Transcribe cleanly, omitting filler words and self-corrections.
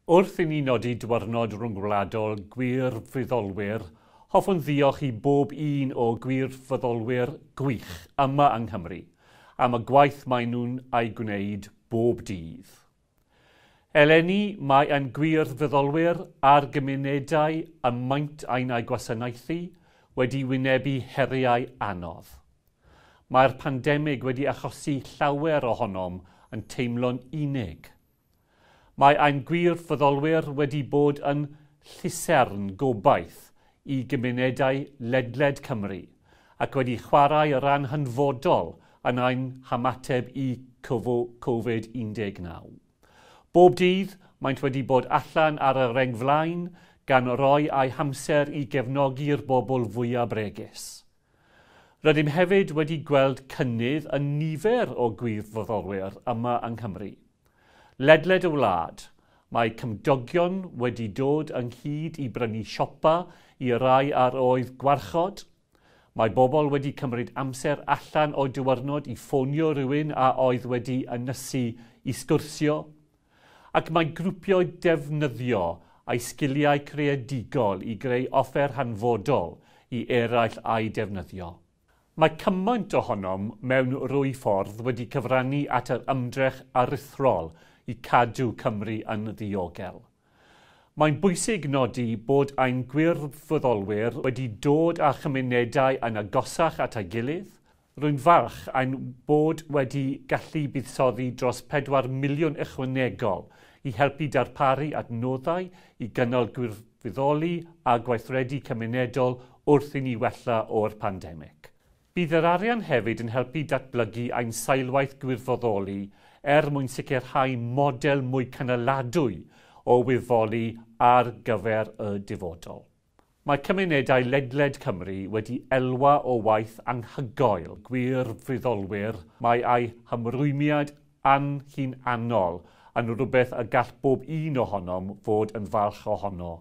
Wrth i ni nodi Diwrnod Rhyngwladol Gwirfoddolwyr, hoffwn ddiolch i bob un o gwirfoddolwyr gwych yma yng Nghymru am y gwaith maen nhw'n ei gwneud bob dydd. Eleni mae ein gwirfoddolwyr a'r gymunedau y maent ein eu gwasanaethu wedi wynebu heriau anodd. Mae'r pandemig wedi achosi llawer ohonom yn teimlo'n unig. Mae ein gwirfoddolwyr wedi bod yn llusern gobaith i gymunedau ledled Cymru ac wedi chwarae rhan hanfodol yn ein hymateb i Covid-19. Bob dydd, maent wedi bod allan ar y rheng flaen gan roi eu hamser i gefnogi'r bobl fwyaf bregus. Rydym hefyd wedi gweld cynnydd yn nifer o gwirfoddolwyr yma yng Nghymru. Ledled y wlad, mae cymdogion wedi dod ynghyd i brynu siopa i rai ar oedd gwarchod. Mae bobl wedi cymryd amser allan o'u diwrnod i ffonio rhywun a oedd wedi ynysu i sgwrsio. Ac mae grwpiau defnyddio eu sgiliau creadigol i greu offer hanfodol i eraill a'i defnyddio. Mae cymaint ohonom mewn rwy ffordd wedi cyfrannu at yr ymdrech aruthrol i cadw Cymru yn ddiogel. Mae'n bwysig nodi bod ein gwirfoddolwyr wedi dod â chymunedau yn agosach at ei gilydd. Rwy'n falch ein bod wedi gallu buddsoddi dros 4 miliwn ychwanegol i helpu darparu adnoddau i gynnal gwirfoddoli a gweithredu cymunedol wrth i ni wella o'r pandemig. Bydd yr arian hefyd yn helpu datblygu ein seilwaith gwirfoddoli er mwyn sicrhau model mwy cynaladwy o wirfoddoli ar gyfer y dyfodol. Mae cymunedau ledled Cymru wedi elwa o waith anhygoel gwirfoddolwyr. Mae eu hymrwymiad anhunanol yn rhywbeth y gall bob un ohonom fod yn falch ohono.